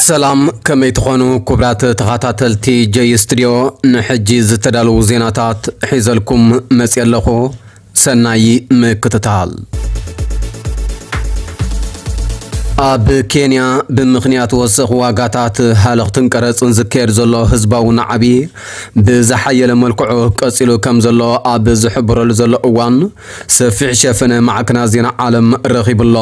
ሰላም፣ ከመይ ትኾኑ ክቡራት ተኸታተልቲ ጀይ ስቱድዮ? ንሕጂ ዝተዳለዉ ዜናታት ሒዘልኩም መፅየ ኣለኹ። ሰናይ ምክትታል። ኣብ ኬንያ ብምኽንያት ወሰኽ ዋጋታት ሃለኽትን ቀረፅን ዝካየድ ዘሎ ህዝባዊ ናዕቢ ብዝሓየለ መልክዑ ቀፂሉ ከም ዘሎ ኣብ ዝሕብረሉ ዘሎ እዋን፣ ሰፊሕ ሸፈነ ማዕከናት ዜና ዓለም ረኺቡ ኣሎ።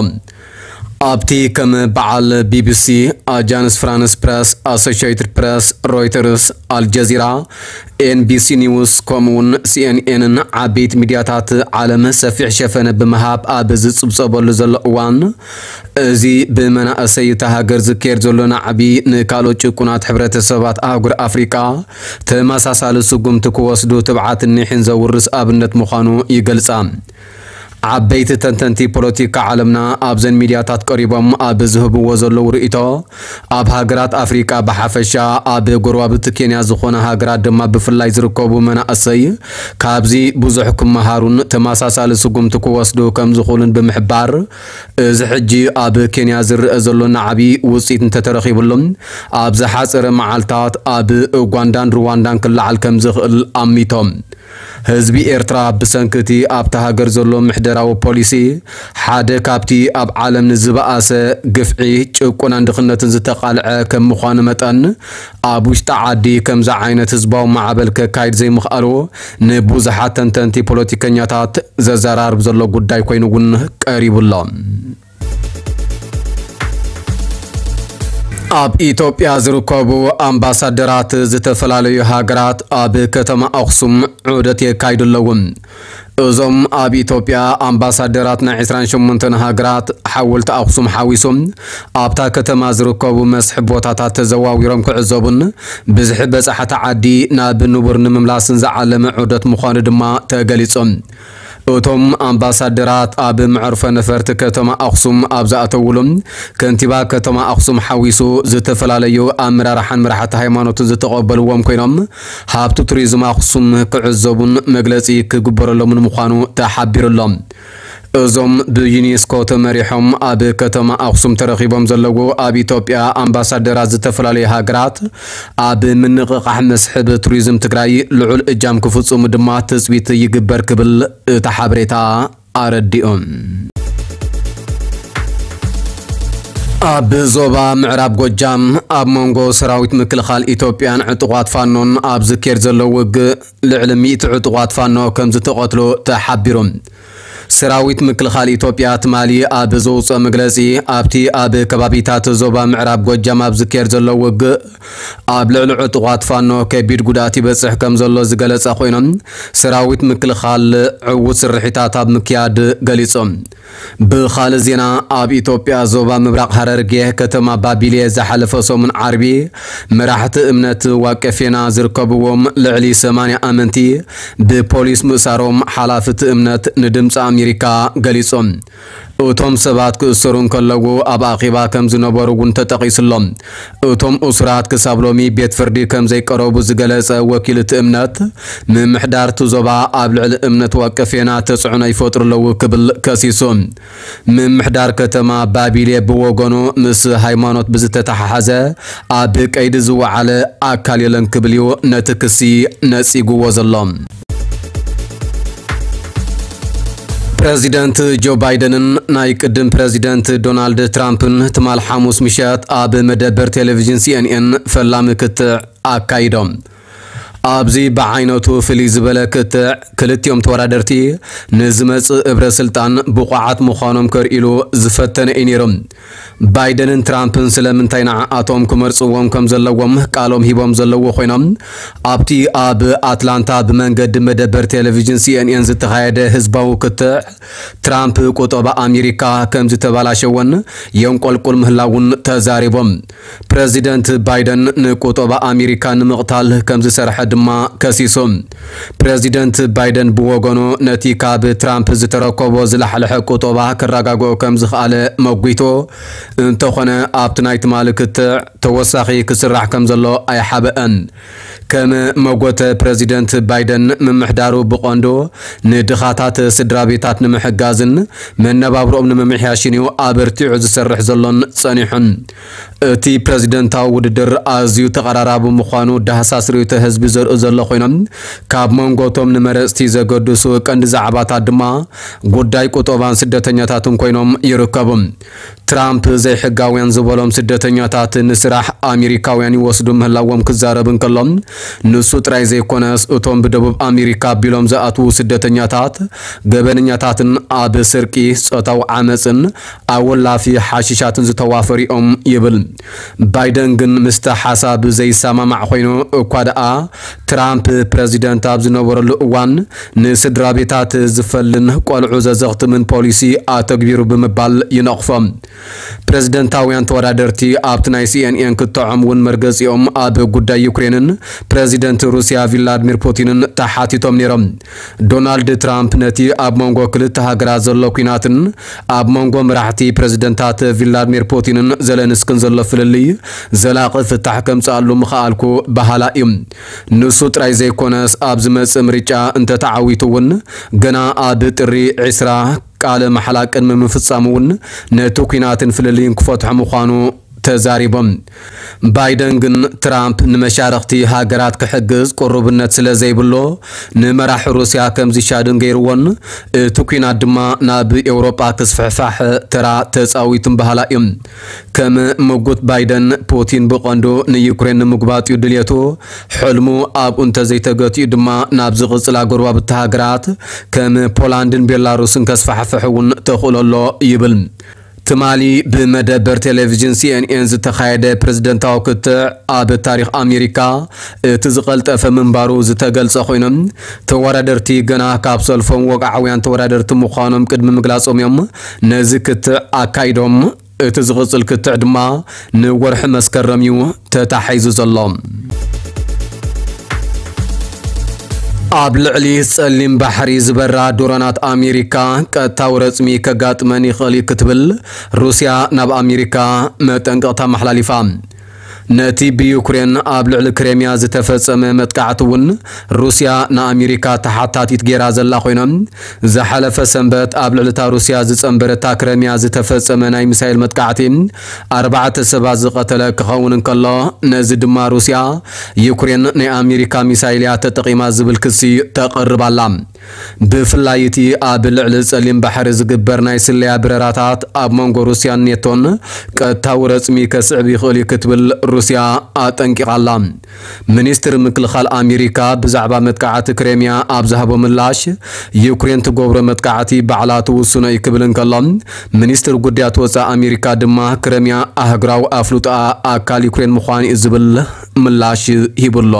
ኣብቲ ከም በዓል ቢቢሲ፣ ኣጃንስ ፍራንስ ፕረስ፣ ኣሶሺየትድ ፕረስ፣ ሮይተርስ፣ ኣልጀዚራ፣ ኤንቢሲ ኒውስ፣ ከምኡውን ሲኤንኤንን ዓበይቲ ሚድያታት ዓለም ሰፊሕ ሸፈነ ብምሃብ ኣብ ዝጽብጸበሉ ዘሎ እዋን፣ እዚ ብመናእሰይ እታ ሃገር ዝካየድ ዘሎ ናዕቢ ንካልኦት ጭቁናት ሕብረተሰባት ኣህጉር ኣፍሪቃ ተመሳሳሊ ስጉምቲ ክወስዱ ትብዓትን ኒሕን ዘውርስ ኣብነት ምዃኑ ይገልጻ። ዓበይቲ ተንተንቲ ፖለቲካ ዓለምና ኣብዘን ሚድያታት ቀሪቦም ኣብ ዝህብዎ ዘለዉ ርእይቶ፣ ኣብ ሃገራት ኣፍሪቃ ብሓፈሻ፣ ኣብ ጎረባብቲ ኬንያ ዝኾና ሃገራት ድማ ብፍላይ ዝርከቡ መናእሰይ ካብዚ ብዙሕ ክመሃሩን ተመሳሳሊ ስጉምቲ ክወስዱ ከም ዝኽእሉን ብምሕባር፣ እዚ ሕጂ ኣብ ኬንያ ዝረአ ዘሎ ናዕቢ ውፅኢት እንተተረኺብሉ፣ ኣብ ዝሓፀረ መዓልታት ኣብ ኡጋንዳን ሩዋንዳን ክለዓል ከም ዝኽእል ኣሚቶም። ህዝቢ ኤርትራ ብሰንኪ እቲ ኣብታ ሃገር ዘሎ ምሕደራዊ ፖሊሲ፣ ሓደ ካብቲ ኣብ ዓለም ንዝበኣሰ ግፍዒ፣ ጭቆናን ድኽነትን ዝተቓልዐ ከም ምዃኑ መጠን፣ ኣብ ውሽጢ ዓዲ ከምዚ ዓይነት ህዝባዊ ማዕበል ከካይድ ዘይምኽኣሉ ንብዙሓት ተንተንቲ ፖለቲከኛታት ዘዘራርብ ዘሎ ጉዳይ ኮይኑ እውን ቀሪቡ ኣሎ። ኣብ ኢትዮጵያ ዝርከቡ ኣምባሳደራት ዝተፈላለዩ ሃገራት ኣብ ከተማ ኣኽሱም ዑደት የካይዱ ኣለዉ። እዞም ኣብ ኢትዮጵያ ኣምባሳደራት ናይ ዕስራን ሸሞንተን ሃገራት፣ ሓወልቲ ኣኽሱም ሓዊሱ ኣብታ ከተማ ዝርከቡ መስሕብ ቦታታት ተዘዋዊሮም ክዕዘቡን ብዝሒ በጻሕቲ ዓዲ ናብ ንቡር ንምምላስን ዝዓለመ ዑደት ምዃኑ ድማ ተገሊጹ። እቶም ኣምባሳደራት ኣብ መዕርፎ ነፈርቲ ከተማ ኣኽሱም ኣብ ዝኣተውሉ፣ ከንቲባ ከተማ ኣኽሱም ሓዊሱ ዝተፈላለዩ ኣመራርሓን መራሕቲ ሃይማኖትን ዝተቐበልዎም ኮይኖም፣ ሃብቲ ቱሪዝም ኣኽሱም ክዕዘቡን መግለፂ ክግበረሎምን ምዃኑ ተሓቢሩ ኣሎ። እዞም ብዩኔስኮ ተመሪሖም ኣብ ከተማ ኣኽሱም ተረኺቦም ዘለዉ ኣብ ኢትዮጵያ ኣምባሳደራት ዝተፈላለዩ ሃገራት፣ ኣብ ምንቕቓሕ መስሕብ ቱሪዝም ትግራይ ልዑል እጃም ክፍፅሙ ድማ ትፅቢት ይግበር ክብል እቲ ሓበሬታ ኣረዲኡ። ኣብ ዞባ ምዕራብ ጎጃም ኣብ መንጎ ሰራዊት ምክልኻል ኢትዮጵያን ዕጡቓት ፋኖን ኣብ ዝካየድ ዘሎ ውግእ ልዕሊ ሚእቲ ዕጡቓት ፋኖ ከም ዝተቐትሉ ተሓቢሩ። ሰራዊት ምክልኻል ኢትዮጵያ ትማሊ ኣብ ዘውፅኦ መግለፂ፣ ኣብቲ ኣብ ከባቢታት ዞባ ምዕራብ ጎጃም ኣብ ዝካየድ ዘሎ ውግእ ኣብ ልዕሊ ዕጡቓት ፋኖ ከቢድ ጉድኣት ይበፅሕ ከም ዘሎ ዝገለፀ ኮይኖም፣ ሰራዊት ምክልኻል ዕዉት ስርሒታት ኣብ ምክያድ ገሊፆም። ብኻልእ ዜና፣ ኣብ ኢትዮጵያ ዞባ ምብራቕ ሃረርጌ ከተማ ባቢሌ ዝሓለፈ ሰሙን ዓርቢ መራሕቲ እምነት ዋቄ ፌና ዝርከብዎም ልዕሊ ሰማንያ ኣመንቲ ብፖሊስ ምእሳሮም ሓላፊ እቲ እምነት ንድምፂ ኣሜሪካ ገሊጾም። እቶም ሰባት ክእሰሩ እንከለዉ ኣብ ኣኼባ ከም ዝነበሩ እውን ተጠቒሱ ኣሎ። እቶም እሱራት ክሳብ ሎሚ ቤት ፍርዲ ከም ዘይቀረቡ ዝገለጸ ወኪል እቲ እምነት፣ ምምሕዳር እቲ ዞባ ኣብ ልዕሊ እምነት ዋቄ ፌና ተጽዕኖ ይፈጥሩ ኣለዉ ክብል ከሲሱ። ምምሕዳር ከተማ ባቢሌ ብወገኑ፣ ምስ ሃይማኖት ብዝተተሓሓዘ ኣብ ቀይዲ ዝወዓለ ኣካል የለን ክብል እዩ ነቲ ክሲ ነጺግዎ ዘሎ። ፕረዚደንት ጆ ባይደንን ናይ ቅድም ፕረዚደንት ዶናልድ ትራምፕን ትማል ሓሙስ ምሸት ኣብ መደበር ቴሌቪዥን ሲኤንኤን ፈላሚ ክትዕ ኣካይዶም። ኣብዚ ብዓይነቱ ፍልይ ዝበለ ክትዕ፣ ክልቲኦም ተወዳደርቲ ንዝመጽእ እብረ ስልጣን ብቑዓት ምዃኖም ከርእይሉ ዝፈተነ እዩ ነይሩ። ባይደንን ትራምፕን ስለምንታይ ንዓኣቶም ክመርጽዎም ከም ዘለዎም ቃሎም ሂቦም ዘለዉ ኮይኖም፣ ኣብቲ ኣብ ኣትላንታ ብመንገዲ መደበር ቴሌቪዥን ሲኤንኤን ዝተኻየደ ህዝባዊ ክትዕ፣ ትራምፕ ቁጠባ ኣሜሪካ ከም ዝተበላሸወን የንቆልቁል ምህላውን ተዛሪቦም። ፕረዚደንት ባይደን ንቁጠባ ኣሜሪካ ንምቕታል ከም ዝሰርሐ ድማ ከሲሱ። ፕረዚደንት ባይደን ብወገኑ፣ ነቲ ካብ ትራምፕ ዝተረከቦ ዝላሕለሐ ቁጠባ ክረጋግኦ ከም ዝኸኣለ መጒቱ፣ እንተኾነ ኣብቲ ናይ ትማሊ ክትዕ ተወሳኺ ክስራሕ ከም ዘሎ ኣይሓበአን። ከም መጎተ ፕረዚደንት ባይደን፣ ምምሕዳሩ ብቐንዱ ንድኻታት ስድራ ቤታት ንምሕጋዝን መነባብሮኦም ንምምሕያሽን እዩ ኣበርቲዑ ዝሰርሕ ዘሎን ጸኒሑን። እቲ ፕረዚደንታዊ ውድድር ኣዝዩ ተቐራራቢ ምዃኑ ዳህሳስ ርእይቶ ህዝቢ ዘርእዩ ዘሎ ኮይኖም፣ ካብ መንጎቶም ንመረጽቲ ዘገድሱ ቀንዲ ዛዕባታት ድማ ጉዳይ ቁጠባን ስደተኛታትን ኮይኖም ይርከቡ። ትራምፕ ዘይሕጋውያን ዝበሎም ስደተኛታት ንስራሕ ኣሜሪካውያን ይወስዱ ምህላዎም ክዛረብ እንከሎ፣ ንሱ ጥራይ ዘይኮነስ እቶም ብደቡብ ኣሜሪካ ኣቢሎም ዝኣትዉ ስደተኛታት ገበነኛታትን ኣብ ስርቂ፣ ጾታዊ ዓመጽን ኣወላፊ ሓሽሻትን ዝተዋፈሩ እዮም ይብል። ባይደን ግን ምስቲ ሓሳብ ዘይሰማማዕ ኮይኑ እኳ ደኣ፣ ትራምፕ ፕረዚደንት ኣብ ዝነበረሉ እዋን ንስድራ ቤታት ዝፈልን ቆልዑ ዘዘኽትምን ፖሊሲ ኣተግቢሩ ብምባል ይነቕፎ። ፕረዚደንታውያን ተወዳደርቲ ኣብቲ ናይ ሲኤንኤን ክትዖም እውን መርገጺኦም ኣብ ጉዳይ ዩክሬንን ፕረዚደንት ሩስያ ቪላድሚር ፑቲንን ተሓቲቶም ነይሮም። ዶናልድ ትራምፕ ነቲ ኣብ መንጎ ክልተ ሃገራት ዘሎ ኲናትን ኣብ መንጎ መራሕቲ ፕረዚደንታት ቪላድሚር ፑቲንን ዘለንስክን ዘሎ ፍልልይ ዘላቒ ፍታሕ ከምጽኣሉ ምኽኣልኩ በሃላ እዩ። ንሱ ጥራይ ዘይኮነስ፣ ኣብ ዝመጽእ ምርጫ እንተተዓዊቱ እውን፣ ገና ኣብ ጥሪ ዕስራ ቃለ መሓላ ቅድሚ ምፍጻሙ እውን፣ ነቲ ኲናትን ፍልልይን ክፈትሖ ምዃኑ ተዛሪቦም። ባይደን ግን፣ ትራምፕ ንመሻርኽቲ ሃገራት ክሕግዝ ቅሩብነት ስለ ዘይብሎ፣ ንመራሒ ሩስያ ከም ዝሻድን ገይርዎን፣ እቲ ኲናት ድማ ናብ ኤውሮጳ ክስፍሕፋሕ ተራ ተጻዊቱን በሃላ እዮም። ከም ምጉት ባይደን፣ ፑቲን ብቐንዱ ንዩክሬን ንምጉባጥ እዩ ድልየቱ። ሕልሙ ኣብኡ እንተዘይተገቲኡ ድማ፣ ናብ ዝቕጽላ ጎረባብቲ ሃገራት ከም ፖላንድን ቤላሩስን ከስፋሕፍሕ እውን ተኽእሎ ኣሎ ይብል። ትማሊ ብመደበር ቴሌቪዥን ሲኤንኤን ዝተኻየደ ፕረዚደንታዊ ክትዕ፣ ኣብ ታሪኽ ኣሜሪካ እቲ ዝቐልጠፈ ምንባሩ ዝተገልጸ ኮይኖም፣ ተወዳደርቲ ገና ካብ ሰልፎም ወግዓውያን ተወዳደርቲ ምዃኖም ቅድሚ ምግላጾም እዮም ነዚ ክትዕ ኣካይዶም። እቲ ዝቕጽል ክትዕ ድማ ንወርሒ መስከረም እዩ ተታሒዙ ዘሎ። ኣብ ልዕሊ ጸሊም ባሕሪ ዝበራ ድሮናት ኣሜሪካ ቀጥታዊ ረጽሚ ከጋጥመን ይኽእል እዩ ክትብል ሩስያ ናብ ኣሜሪካ መጠንቀቕታ ኣመሓላሊፋ። ነቲ ብዩክሬን ኣብ ልዕሊ ክሬምያ ዝተፈጸመ መጥቃዕቲ እውን ሩስያ ንኣሜሪካ ተሓታቲት ገይራ ዘላ ኮይና፣ ዝሓለፈ ሰንበት ኣብ ልዕሊ እታ ሩስያ ዝጸንበረታ ክሬምያ ዝተፈጸመ ናይ ሚሳይል መጥቃዕቲ ኣርባዕተ ሰባት ዝቐተለ ክኸውን እንከሎ፣ ነዚ ድማ ሩስያ፣ ዩክሬን ናይ ኣሜሪካ ሚሳይል እያ ተጠቒማ ዝብል ክሲ ተቕርብ ኣላ። ብፍላይ እቲ ኣብ ልዕሊ ጸሊም ባሕሪ ዝግበር ናይ ስለያ በረራታት ኣብ መንጎ ሩስያን ኔቶን ቀጥታዊ ረጽሚ ከስዕብ ይኽእል እዩ ክትብል ሩስያ ኣጠንቂቓ ኣላ። ሚኒስትሪ ምክልኻል ኣሜሪካ ብዛዕባ መጥቃዕቲ ክሬምያ ኣብ ዝሃቦ ምላሽ፣ ዩክሬን ትገብሮ መጥቃዕቲ ባዕላ ትውስኖ እዩ ክብል እንከሎ፣ ሚኒስትሪ ጉዳያት ወጻኢ ኣሜሪካ ድማ ክሬምያ ኣህጉራዊ ኣፍልጦኣ ኣካል ዩክሬን ምዃኑ እዩ ዝብል ምላሽ ሂቡ ኣሎ።